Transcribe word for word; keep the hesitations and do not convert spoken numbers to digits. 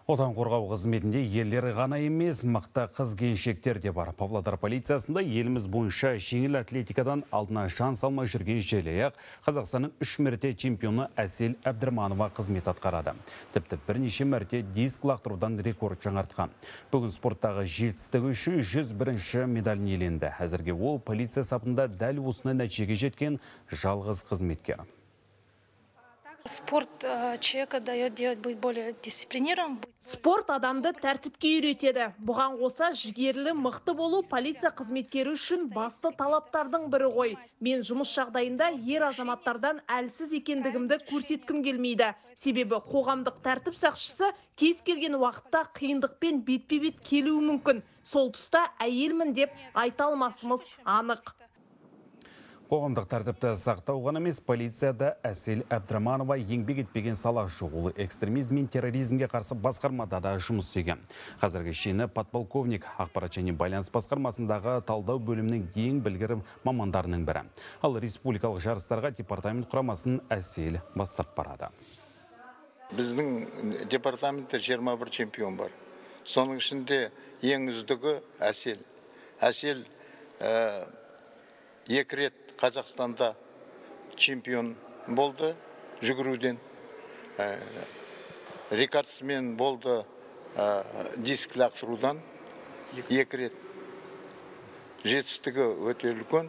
Отан қорғау қызметінде ерлері ғана емес, мықты қыз келіншектер де бар. Павлодар полициясында еліміз бойынша жеңіл атлетикадан алдына шанс алмай жүрген желаяқ Қазақстанның үш мәрте чемпионы Әсел Әбдірманова қызмет атқарады. Тіпті бірнеше мәрте диск лақтырудан рекорд жаңартқан. Бүгін спорттағы жетістігі үшін жүз бірінші медалін иеленді. Әзірге ол полиция сапында дәл осындай нәтижеге жеткен жалғыз қызметкер. Спорт человека дает делать быть более дисциплинированным. Спорт адамды тәртіпке үйретеді. Бұған қоса жігерлі мықты болу полиция қызметкері үшін басты талаптардың бірі ғой. Мен жұмыс жағдайында ер азаматтардан әлсіз екендігімді көрсеткім келмейді. Себебі қоғамдық тәртіп сақшысы кез келген уақытта қиындықпен бетпе-бет келуі мүмкін. Сол тұста әйелмін деп айта алмасымыз анық. Қоғамдық тәртіпті сақтау ғана емес, полицияда Әсел Әбдірманова еңбек етпеген сала жоқ. Ол экстремизм мен терроризмге қарсы басқармада да жұмыс істеген. Қазіргі шені подполковник ақпарат және байланыс басқармасындағы талдау бөлімінің ең білгір мамандарының бірі. Ал республикалық жарыстарға департамент құрамасын Әсел бастап барады. Біздің департаментте жиырма бір чемпион бар. Соның ішінде ең үздігі Әсел. Әсел екі рет Қазақстанда чемпион болды жүгіруден. Рекордсмен болды диск лақтырудан екі рет. Жетістігі өте үлкен.